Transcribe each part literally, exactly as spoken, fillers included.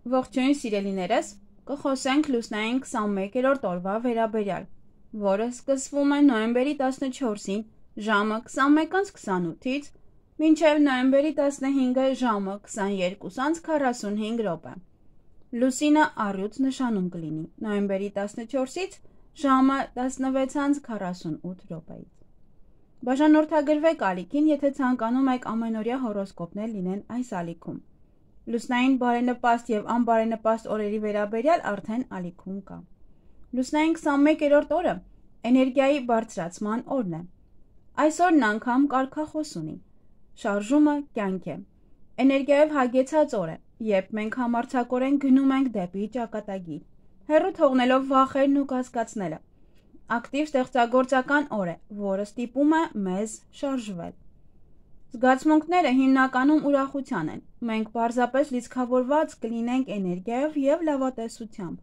Ողջույն սիրելիներս, կխոսենք լուսնային քսանմեկերորդ օրվա վերաբերյալ, որը սկսվում է նոյեմբերի տասնչորսին ժամը քսանմեկ անց քսանութից մինչև նոյեմբերի տասնհինգը ժամը քսաներկու անց քառասունհինգ րոպե։ Լուսինը առյուծ նշանում կլինի նոյեմբերի տասնչորսից ժամը տասնվեց անց քառասունութ րոպեից։ Բաժանորդագրվեք ալիքին, եթե ցանկանում եք ամենօրյա հորոսկոպներ լինեն այս ալիքում։ Լուսնային բարենպաստ և անբարենպաստ օրերի վերաբերյալ արդեն ալիքում կա։ Լուսնային քսանմեկերորդ օրը էներգիայի բարձրացման օրն է։ Այս օրն անգամ կարգախոս ունի։ Շարժումը կյանք է։ Էներգիայով հագեցած օր է, երբ մենք համարձակորեն գնում ենք դեպի ճակատագիր, հեռու թողնելով վախերն ու կասկածները։ Ակտիվ ստեղծագործական օր է, որը ստիպում է մեզ շարժվել։ Զգացմունքները հիմնականում ուրախության են։ Մենք պարզապես լիցքավորված կլինենք էներգիայով և լավատեսությամբ։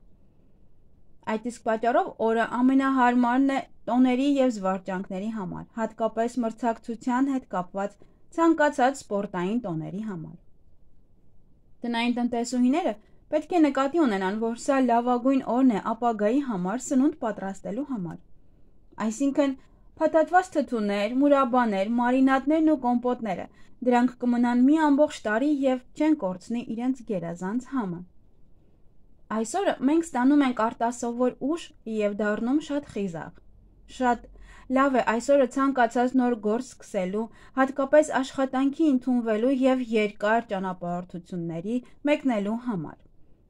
Այդ իսկ պատճառով օրը ամենահարմարն է տոների և զվարճանքների համար, հատկապես մրցակցության հետ կապված ցանկացած սպորտային տոների համար։ Տնային տնտեսուհիները պետք է նկատի ունենան, որ սա լավագույն օրն է ապագայի համար սնունդ պատրաստելու համար։ Այսինքն, փաթաթված թթուներ, մուրաբաներ, մարինադներն ու կոմպոտները, դրանք կմնան մի ամբողջ տարի և չեն կորցնի իրենց գերազանց համը։ Այսօրը մենք ստանում ենք արտասովոր ուժ և դառնում շատ խիզախ։ Շատ լավ է այսօրը ցանկացած նոր գործ սկսելու, հատկապես աշխատանքի ընդունվելու և երկար ճանապարհորդությունների մեկնելու համար։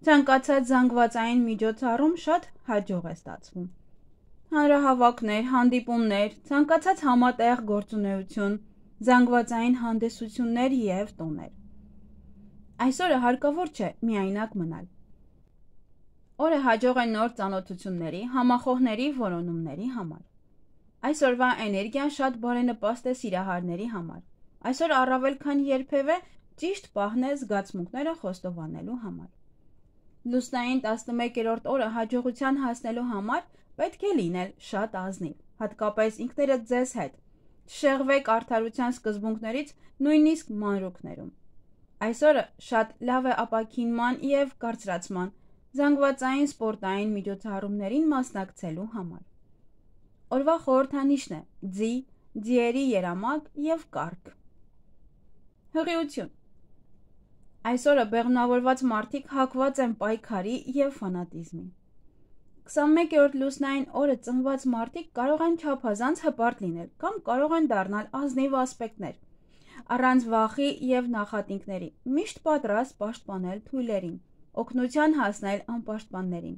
Ցանկացած զանգվածային միջոցառում շատ հաջող է ստացվում։ Հանրահավաքներ, հանդիպումներ, ցանկացած համատեղ գործունեություն, զանգվածային հանդիսություններ և տոներ։ Այսօրը հարկավոր չէ միայնակ մնալ։ Օրը հաջող է նոր ծանոթությունների, համախոհների որոնումների համար։ Այսօրվա էներգիան շատ բարենպաստ է սիրահարների համար։ Այսօր առավել քան երբևէ ճիշտ պահն է զգացմունքները խոստովանելու համար։ Լուսնային տասնմեկերորդ օրը հաջողության հասնելու համար պետք է լինել շատ ազնիվ, հատկապես ինքներդ ձեզ հետ։ Չշեղվեք արդարության սկզբունքներից նույնիսկ մանրուքներում։ Այսօրը շատ լավ է ապաքինման և կարծրացման, զանգվածային սպորտային միջոցառումներին մասնակցելու համար։ Օրվա խորհրդանիշն է ձի, ձիերի երամակ և կառք։ Հղիություն։ Այսօրը բեղմնավորված մարդիկ հակված են պայքարի և ֆանատիզմի։ քսանմեկերորդ լուսնային օրը ծնված մարդիկ կարող են չափազանց հպարտ լինել կամ կարող են դառնալ ազնիվ ասպետներ, առանց վախի և նախատինքների, միշտ պատրաստ պաշտպանել թույլերին, օգնության հասնել անպաշտպաններին։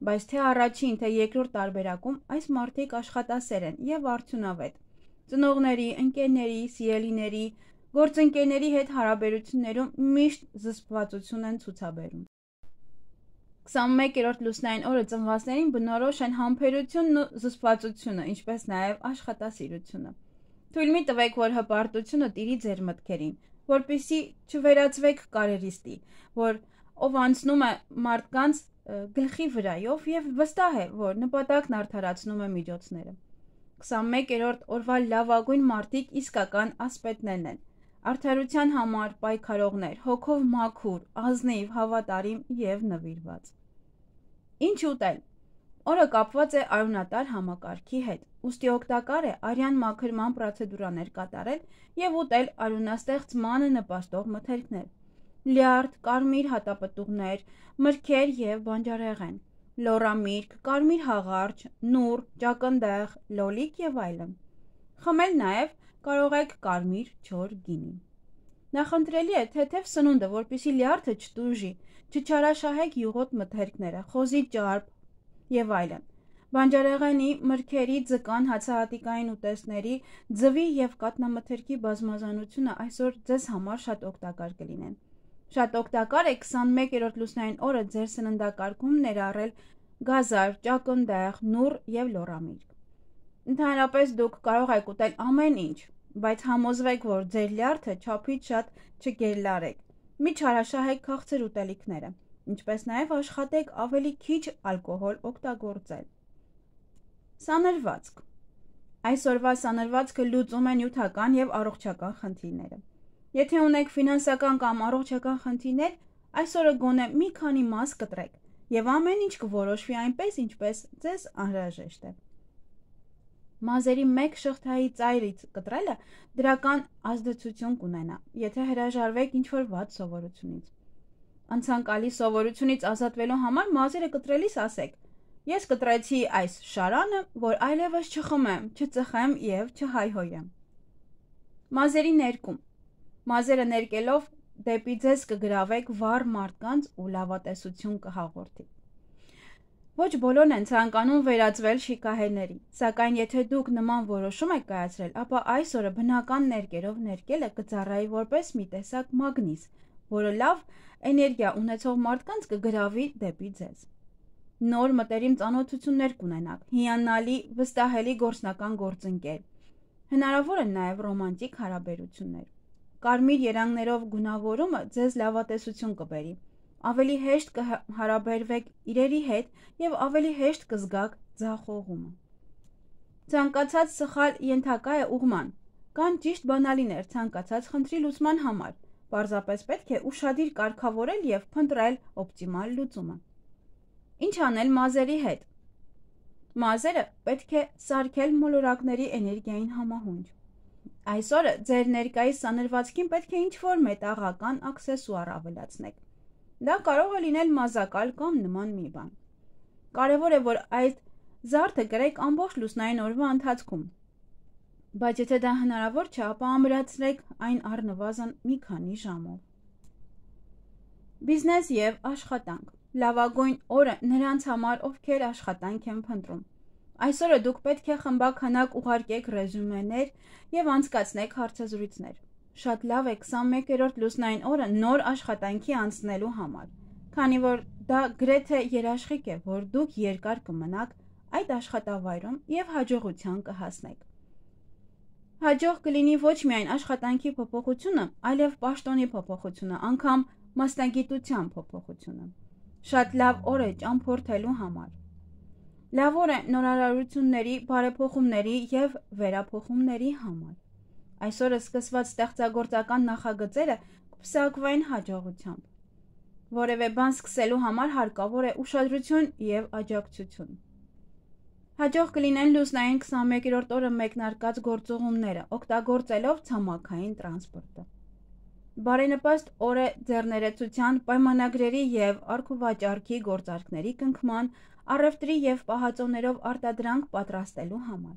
Բայց թե առաջին, թե երկրորդ տարբերակում այս մարդիկ աշխատասեր են և արդյունավետ։ Ծնողների, ընկերների, սիրելիների, գործընկերների հետ հարաբերություններում միշտ զսպվածություն են ցուցաբերում։ քսանմեկերորդ լուսնային օրը ծնվածներին բնորոշ են համբերությունն ու զսպվածությունը, ինչպես նաև աշխատասիրությունը։ Թույլ մի տվեք, որ հպարտությունը տիրի ձեր մտքերին, որպեսզի չվերածվեք կարերիստի, որ ով անցնում է մարդկանց գլխի վրայով և վստահ է, որ նպատակն արդարացնում է միջոցները։ քսանմեկերորդ օրվա լավագույն մարդիկ իսկական ասպետներն են, արդարության համար պայքարողներ, հոգով մաքուր, ազնիվ, հավատարիմ և նվիրված։ Ինչ ուտել։ Օրը կապված է արյունատար համակարգի հետ, ուստի օգտակար է արյան մաքրման պրոցեդուրաներ կատարել և ուտել արյունաստեղծմանը նպաստող մթերքներ՝ լյարդ, կարմիր հատապտուղներ, մրգեր և բանջարեղեն, լոռամիրգ, կարմիր հաղարչ, նուռ, ճակնդեղ, լոլիկ և այլն։ Խմել նաև կարող եք կարմիր չոր գինի։ Նախընտրելի է թեթև սնունդը, որպեսզի լյարդը չտուժի, չչարաշահեք յուղոտ մթերքները, խոզի ճարպ և այլն։ Բանջարեղենի, մրգերի, ձկան, հացահատիկային ուտեստների, ձվի և կաթնամթերքի բազմազանությունը այսօր ձեզ համար շատ օգտակար կլինեն։ Շատ օգտակար է քսանմեկերորդ լուսնային օրը ձեր սննդակարգում ներառել գազար, ճակնդեղ, նուռ և լոռամիրգ։ Ընդհանրապես դուք կարող եք ուտել ամեն ինչ, բայց համոզվեք, որ ձեր լյարդը չափից շատ չգերլարեք։ Մի չարաշահեք քաղցր ուտելիքները, ինչպես նաև աշխատեք ավելի քիչ ալկոհոլ օգտագործել։ Սանրվածք։ Այսօրվա սանրվածքը լուծում է նյութական և առողջական խնդիրները։ Եթե ունեք ֆինանսական կամ առողջական խնդիրներ, Այսօրը գոնե մի քանի մաս կտրեք, եւ ամեն ինչ կորոշվի այնպես, ինչպես ձեզ անհրաժեշտ է։ Մազերի մեկ շղթայի ծայրից կտրելը դրական ազդեցություն կունենա, եթե հրաժարվեք ինչ-որ վատ սովորությունից։ Անցանկալի սովորությունից ազատվելու համար մազերը կտրելիս ասեք. ես կտրեցի այս շարանը, որ այլևս չխմեմ, չծխեմ եւ չհայհոյեմ։ Մազերի ներկում։ Մազերը ներկելով դեպի ձեզ կգրավեք վառ մարդկանց ու լավատեսություն կհաղորդի։ Ոչ բոլորն են ցանկանում վերածվել շիկահերների, սակայն եթե դուք նման որոշում եք կայացրել, ապա այս օրը բնական ներկերով ներկելը կծառայի որպես մի տեսակ մագնիս, որը լավ էներգիա ունեցող մարդկանց կգրավի դեպի ձեզ։ Նոր մտերիմ ծանոթություններ կունենաք, հիանալի, վստահելի գործնական գործընկեր։ Հնարավոր են նաև ռոմանտիկ հարաբերություններ։ Կարմիր երանգներով գունավորումը ձեզ լավատեսություն կբերի։ Ավելի հեշտ կհարաբերվեք իրերի հետ եւ ավելի հեշտ կզգաք ձախողումը։ Ցանկացած սխալ ենթակա է ուղղման։ Կան ճիշտ բանալիներ ցանկացած խնդրի լուծման համար։ Պարզապես պետք է ուշադիր կարգավորել եւ փնտրել օպտիմալ լուծումը։ Ինչ անել մազերի հետ։ Մազերը պետք է սարքել մոլորակների էներգիային համահունչ։ Այսօրը ձեր ներկայիս սանրվածքին պետք է ինչ-որ մետաղական աքսեսուար ավելացնեք։ Դա կարող է լինել մազակալ կամ նման մի բան։ Կարևոր է, որ այդ զարդը կրեք ամբողջ լուսնային օրվա ընթացքում։ Բայց եթե դա հնարավոր չէ, ապա ամրացրեք այն առնվազն մի քանի ժամով։ Բիզնես եւ աշխատանք։ Լավագույն օրը նրանց համար, ովքեր աշխատանք են փնտրում։ Այսօրը դուք պետք է խմբականակ ուղարկեք ռեզյումեներ եւ անցկացնեք հարցազրույցներ։ Շատ լավ է քսանմեկերորդ լուսնային օրը նոր աշխատանքի անցնելու համար, քանի որ դա գրեթե երաշխիք է, որ դուք երկար կմնաք այդ աշխատավայրում եւ հաջողության կհասնեք։ Հաջող կլինի ոչ միայն աշխատանքի փոփոխությունը, այլև պաշտոնի փոփոխությունը, անգամ մասնագիտության փոփոխությունը։ Շատ լավ օր է ճամփորդելու համար։ Լավ օր է նորարարությունների, բարեփոխումների եւ վերափոխումների համար։ Այսօրը սկսված ստեղծագործական նախագծերը կփսակվեն հաջողությամբ։ Որևէ բան սկսելու համար հարկավոր է ուշադրություն եւ աջակցություն։ Հաջող կլինեն լուսնային քսանմեկերորդ օրը մեկնարկած գործողումները, օգտագործելով ցամաքային տրանսպորտը։ Բարենպաստ օր է ձեռներեցության, պայմանագրերի եւ առքուվաճառքի գործարքների կնքման, առևտրի եւ պահածոներով արտադրանք պատրաստելու համար։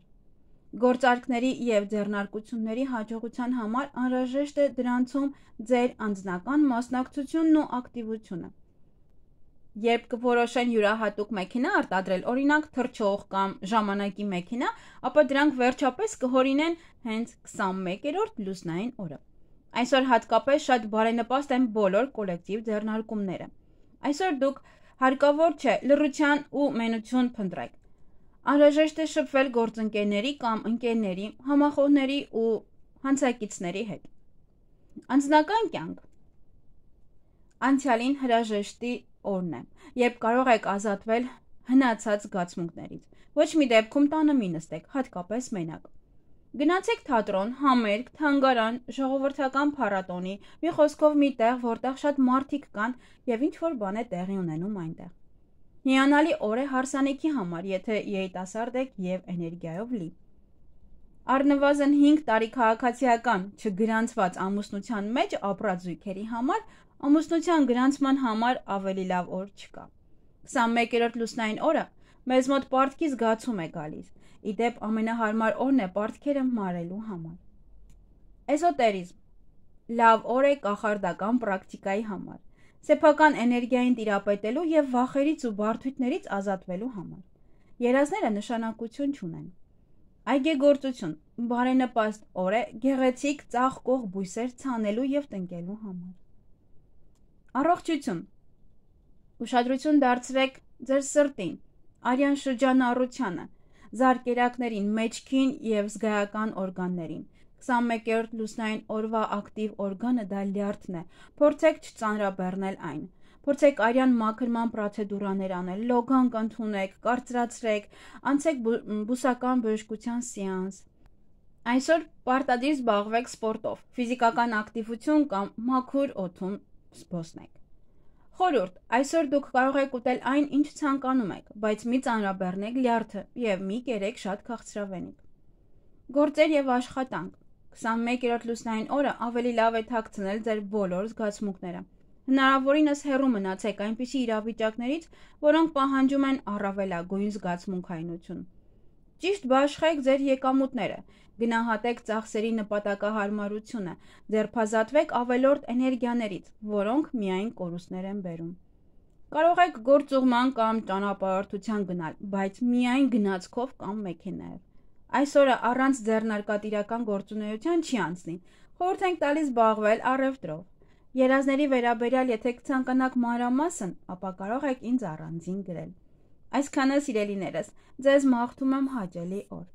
Գործարքների եւ ձեռնարկությունների հաջողության համար անհրաժեշտ է դրանցում ձեր անձնական մասնակցությունն ու ակտիվությունը։ Երբ կորոշեն յուրահատուկ մեքենա արտադրել, օրինակ թռչող կամ ժամանակի մեքենա, ապա դրանք վերջապես կհորինեն հենց քսանմեկերորդ լուսնային օրը։ Այսօր հատկապես շատ բարենպաստ են բոլոր կոլեկտիվ ձեռնարկումները։ Այսօր դուք հարկավոր չէ լռություն ու մենություն փնտրեք։ Անհրաժեշտ է շփվել գործընկերների կամ ընկերների, համախոհների ու հանցակիցների հետ։ Անձնական կյանք։ Անցյալին հրաժեշտի օրն է, երբ կարող եք ազատվել հնացած զգացմունքներից։ Ոչ մի դեպքում տանը մի նստեք, հատկապես մենակ։ Գնացեք թատրոն, համերգ, թանգարան, ժողովրդական փառատոնի, մի խոսքով մի տեղ, որտեղ շատ մարդիկ կան եւ ինչ որ բան է տեղի ունենում այնտեղ։ Հիանալի օր է հարսանիքի համար, եթե երիտասարդ եք եւ էներգիայով լի։ Առնվազն հինգ տարի քաղաքացիական չգրանցված ամուսնության մեջ ապրած զույգերի համար ամուսնության գրանցման համար ավելի լավ օր չկա։ քսանմեկերորդ լուսնային օրը մեզ մոտ պարտքի զգացում է գալիս։ Իդեպ ամենահարմար օրն է պարտքերը մարելու համար։ Էզոտերիզմ։ Լավ օր է կախարդական պրակտիկայի համար, սեփական էներգիային տիրապետելու եւ վախերից ու բարդություններից ազատվելու համար։ Երազները նշանակություն չունեն։ Այգեգործություն, բարենպաստ օր է գեղեցիկ ծաղկող բույսեր ցանելու եւ տնկելու համար։ Առողջություն։ Ուշադրություն դարձրեք ձեր սրտին, արյան շրջանառությանը, զարկերակներին, մեջքին եւ զգայական օրգաններին։ քսանմեկերորդ լուսնային օրվա ակտիվ օրգանը դա լյարդն է։ Փորձեք չծանրաբեռնել այն։ Փորձեք արյան մաքրման պրոցեդուրաներ անել, լոգանք ընդունեք, կարծրացրեք, անցեք բուսական բժշկության սեանս։ Այսօր պարտադիր զբաղվեք սպորտով, ֆիզիկական ակտիվություն կամ մաքուր օդում զբոսնեք։ Խորհուրդ, այսօր դուք կարող եք ուտել այն, ինչ ցանկանում եք, բայց մի ծանրաբեռնեք լյարդը և մի կերեք շատ քաղցրավենիք։ Գործեր և աշխատանք։ քսանմեկերորդ լուսնային օրը ավելի լավ է թաքցնել ձեր բոլոր զգացմունքները։ Հնարավորինս հեռու մնացեք այնպիսի իրավիճակներից, որոնք պահանջում են առավելագույն զգացմունքայնություն։ Ճիշտ բաշխեք ձեր եկամուտները, գնահատեք ծախսերի նպատակահարմարությունը, ձերբազատվեք ավելորդ էներգիաներից, որոնք միայն կորուստներ են բերում։ Կարող եք գործուղման կամ ճանապարհորդության գնալ, բայց միայն գնացքով կամ մեքենայով։ Այսօրը առանց ձեռնարկատիրական գործունեության չի անցնի, խորհուրդ ենք տալիս զբաղվել առևտրով։ Երազների վերաբերյալ եթե կցանկանաք մանրամասն, ապա կարող եք ինձ առանձին գրել։ Այսքանը, սիրելիներս, ձեզ մաղթում եմ հաճելի օր։